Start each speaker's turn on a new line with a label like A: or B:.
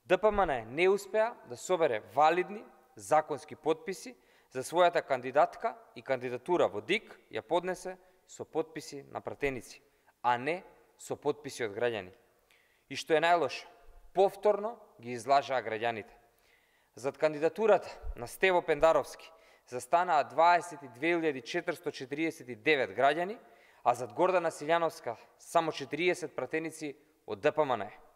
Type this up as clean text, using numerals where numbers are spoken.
A: ДПМН не успеа да собере валидни законски потписи за својата кандидатка и кандидатура во ДИК ја поднесе со потписи на пратеници, а не со потписи од граѓани. И што е најлошо, повторно ги излажаа граѓаните. Зад кандидатурата на Стево Пендаровски застанаа 22.449 граѓани, а зад Гордана Силјановска само 40 пратеници од ДПМН.